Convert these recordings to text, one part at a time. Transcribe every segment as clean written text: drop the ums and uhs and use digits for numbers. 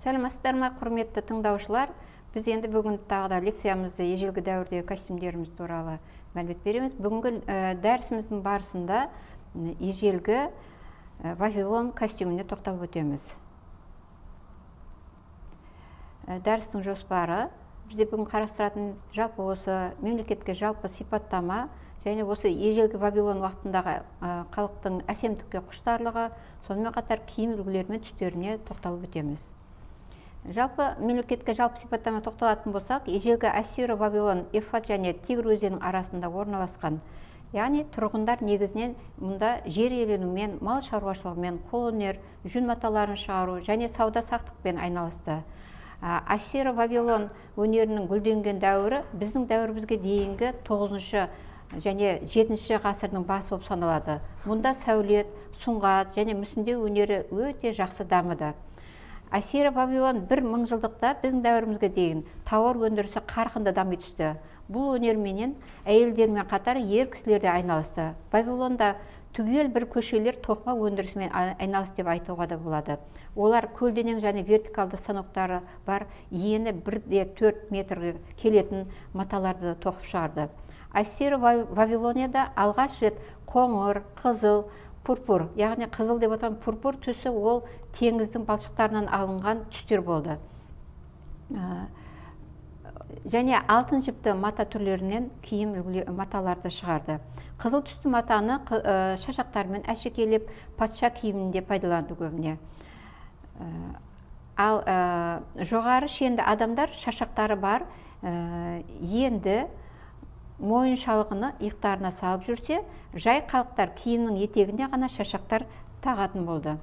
Сәлеметсіздер ме, құрметті тыңдаушылар? Біз енді бүгін тағы да лекциямызды ежелгі дәуірдегі костюмдеріміз туралы мәлімет береміз. Бүгінгі дәрісіміздің барысында ежелгі Вавилон костюміне тоқталып өтеміз. Дәрістің жоспары бізде бүгін қарастыратын жалпы осы мемлекетке жалпы сипаттама және осы ежелгі Вавилон уақытындағы халықтың әсемдікке құштарлығы, сонымен қатар киім үлгілері мен түстеріне тоқталып өтеміз. Жалпы мемлекетке жалпы сипаттама тоқталатын болсақ, ежелгі Ассир, Вавилон, Ефрат және Тигр өзенінің арасында орналасқан. Яғни тұрғындар негізінен мұнда жер иеленумен, мал шаруашылығымен, қолөнер, жүн маталарын шығару және сауда-саттықпен айналысты. Ассир, Вавилон өнерінің гүлденген дәуірі біздің дәуірімізге дейінгі 9 және 7 ғасырдың басы болып саналады. Мұнда сәулет, сұңғат және мүсіндеу өнері өте жақсы дамыды. Ассир, Вавилон бір мыңжылдықта біздің дәуірімізге дейін тауар өндірісі қарқынды дами түсті. Бұл өнерменен әйелдермен қатар ер кісілер де айналысты. Вавилонда түгел бір көшелер тоқыма өндірісімен айналысты деп айтуға да болады. Олар көлденең және вертикалды станоктары бар, ені 1-4 метрге келетін маталарды тоқып шығарды. Ассир, Вавилонияда алғаш рет қоңыр, қызыл, пурпур, яғни қызыл деп отырған пурпур түсі ол теңіздің балшықтарынан алынған түстер болды. Және алтын жіпті мата түрлерінен киім маталарды шығарды. Қызыл түсті матаны шашақтармен әшекейлеп патша киімінде пайдаланды көбіне. Ал жоғары шенді адамдар шашақтары бар енді мойын шалғыны иықтарына салып жүрсе, жай халықтар киімнің етегіне ғана шашақтар тағатын болды.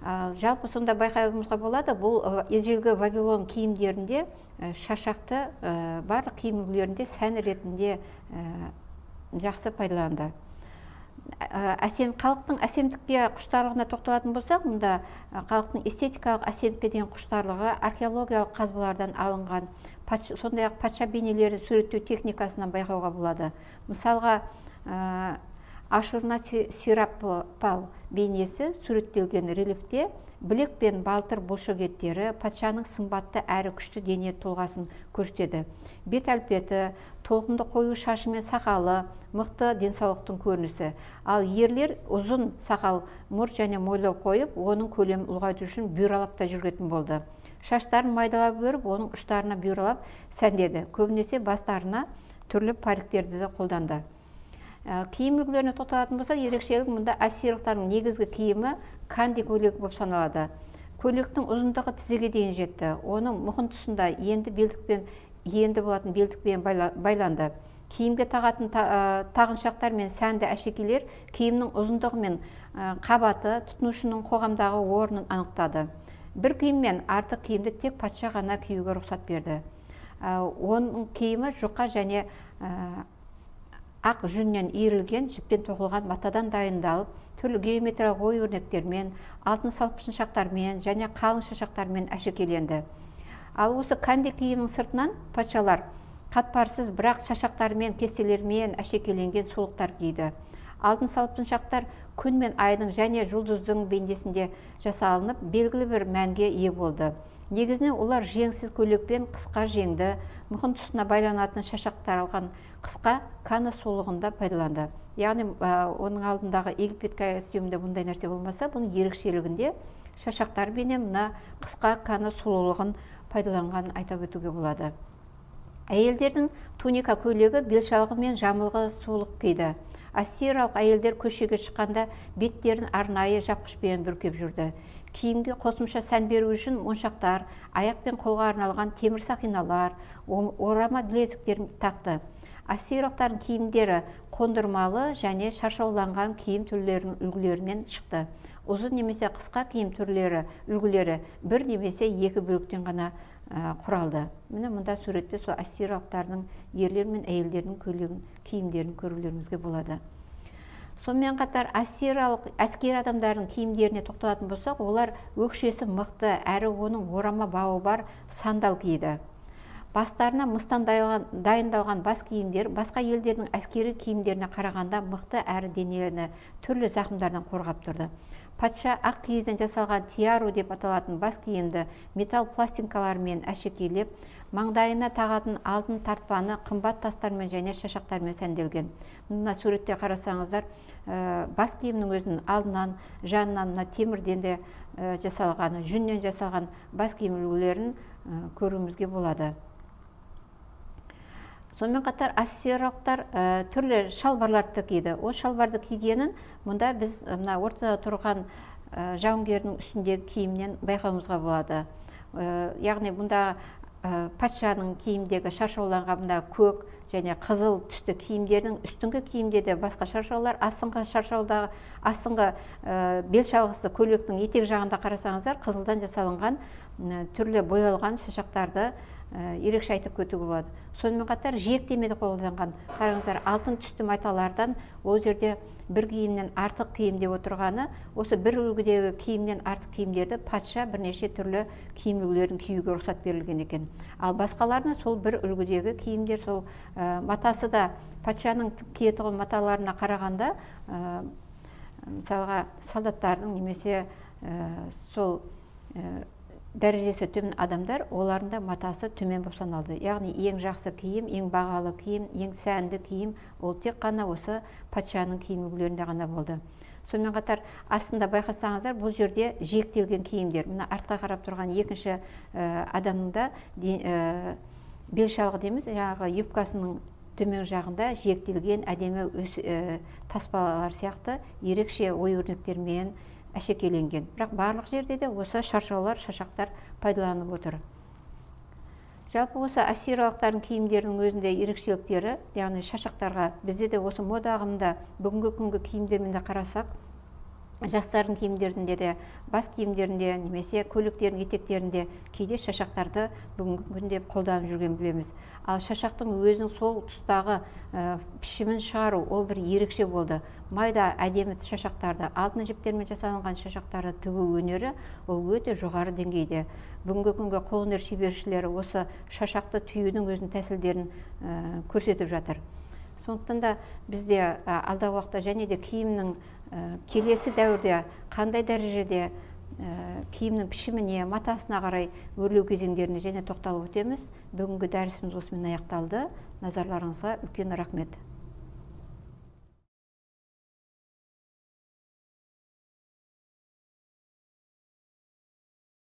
Жалпы сонда байқауымызға болады, бұл ежелгі Вавилон киімдерінде шашақты бар киім үлгілерінде сән ретінде жақсы пайдаланды. Халықтың әсемдікке құштарлығына тоқталатын болсақ, мұнда халықтың эстетикалық әсемдікке деген құштарлығы археологиялық қазбалардан алынған, сондай-ақ патша бейнелерін суреттеу техникасынан байқауға болады. Мысалға, Ашурнасирапал бейнесі суреттелген рельефте білек пен балтыр бұлшық еттері патшаның сымбатты әрі күшті дене тұлғасын көрсетеді. Бет әлпеті, толқынды қою шашы мен сақалы, мықты денсаулықтың көрінісі. Ал ерлер ұзын сақал, мұрт және мойлау қойып, оның көлемін ұлғайту үшін бүйралап та жүргетін болды. Шаштарын майдалап өріп, оның ұштарына бүйралап сәндеді. Көбінесе бастарына түрлі париктерді де қолданды. Киім үлгілеріне тоқталатын болса, ерекшелік мұнда ассирлықтардың негізгі киімі канди көйлек болып саналады. Көйлектің ұзындығы тізеге дейін жетті. Оның мұқын тұсында енді болатын белдікпен байланды. Киімге тағатын тағыншақтар мен сәнді әшекейлер киімнің ұзындығы мен қабаты тұтынушының қоғамдағы орнын анықтады. Бір киім мен артық киімді тек патша ғана киюге рұқсат берді. Оның киімі жұқа және ақ жүннен иірілген жіппен тоқылған матадан дайындалып, түрлі геометриялық ою өрнектермен, алтын салпыншақтармен және қалың шашақтармен әшекейленді. Ал осы канди киімнің сыртынан патшалар қатпарсыз бірақ шашақтармен, кестелермен әшекейленген сұлықтар киді. Алтын салпыншақтар күн мен айдың және жұлдыздың бейнесінде жасалынып, белгілі бір мәнге ие болды. Негізінен олар жеңсіз көйлекпен қысқа жеңді, мұқын тұсына байланатын шашақтар алған қысқа кана сұлулығында пайдаланды. Яғни оның алдындағы Египет костюмінде бұндай нәрсе болмаса, бұның ерекшелігінде шашақтар бенен мына қысқа кана сұлулығын пайдаланғанын айтып өтуге болады. Әйелдердің туника көйлегі белшалғы мен жамылғы сұлық киді. Ассириялық әйелдер көшеге шыққанда беттерін арнайы жапқышпен бүркеп жүрді. Киімге қосымша сән беру үшін моншақтар, аяқ пен қолға арналған темір сақиналар, орама білезіктер тақты. Ассириялықтардың киімдері қондырмалы және шаршауланған киім түрлерінің үлгілерінен шықты. Ұзын немесе қысқа киім түрлері үлгілері бір немесе екі бөліктен ғана құралды. Міне мұнда суретте сол ассириялықтардың ерлер мен әйелдердің киімдерін көрулеріңізге болады. Сонымен қатар ассириялық әскери адамдардың киімдеріне тоқталатын болсақ, олар өкшесі мықты әрі оның орама бауы бар сандал киді. Бастарына мыстан дайындалған бас киімдер басқа елдердің әскери киімдеріне қарағанда мықты әрі денені түрлі зақымдардан қорғап тұрды. патша ақ киізден жасалған тиару деп аталатын бас киімді металл пластинкалармен әшекейлеп, маңдайына тағатын алтын тартпаны қымбат тастармен және шашақтармен сәнделген. Мына суретте қарасаңыздар, бас киімнің өзінің алдынан, жанынан темірден де жасалған, жүннен жасалған бас киім үлгілерін көруімізге болады. Сонымен қатар ассириялықтар түрлі шалбарларды киді. Ол шалбарды кигенін мұнда біз мына ортада тұрған жауынгердің үстіндегі киімнен байқауымызға болады. Яғни мұнда патшаның киімдегі шаршауланған мұнда көк және қызыл түсті киімдердің үстіңгі киімде де басқа шаршаулар, астыңғы шаршаудағы астыңғы бел шалғысы көйлектің етек жағында қарасаңыздар, қызылдан жасалынған түрлі боялған шашақтарды ерекше айтып кетуге болады. Сонымен қатар жиектемеді қолданған. Қараңыздар, алтын түсті маталардан ол жерде бір киімнен артық киімде отырғаны, осы бір үлгідегі киімнен артық киімдерді патша бірнеше түрлі киім үлгілерін киюге рұқсат берілген екен. Ал басқаларына сол бір үлгідегі киімдер, сол матасы да патшаның киетін маталарына қарағанда, мысалға солдаттардың немесе сол дәрежесі төмен адамдар, оларында матасы төмен болып саналды. Яғни ең жақсы киім, ең бағалы киім, ең сәнді киім ол тек қана осы патшаның киім үлгілерінде ғана болды. Сонымен қатар астында байқасаңыздар, бұл жерде жиектелген киімдер. Мына артқа қарап тұрған екінші адамның да бел шалғы дейміз, жаңағы юбкасының төмен жағында жиектелген әдемі таспалар сияқты ерекше ою-өрнектермен әшекеленген. Бірақ барлық жерде де осы шаршаулар, шашақтар пайдаланып отыр. Жалпы осы ассириялықтардың киімдерінің өзінде ерекшеліктері, яғни шашақтарға бізде де осы мода ағымында бүгінгі күнгі киімдермен де қарасақ, жастардың киімдерінде де, бас киімдерінде, немесе көйлектердің етектерінде кейде шашақтарды бүгінгі күнде қолданып жүрген білеміз. Ал шашақтың өзінің сол тұстағы пішімін шығару, ол бір ерекше болды. Майда әдемі шашақтарды, алтын жіптермен жасалынған шашақтарды тігу өнері ол өте жоғары деңгейде. Бүгінгі күнгі қолөнер шебершілері осы шашақты түюдің өзінің тәсілдерін көрсетіп жатыр. Сондықтан да бізде алдағы уақытта және де киімнің келесі дәуірде қандай дәрежеде киімнің пішіміне, матасына қарай өрлеу кезеңдеріне және тоқталып өтеміз. Бүгінгі дәрісіміз осымен аяқталды. Назарларыңызға үлкен рахмет.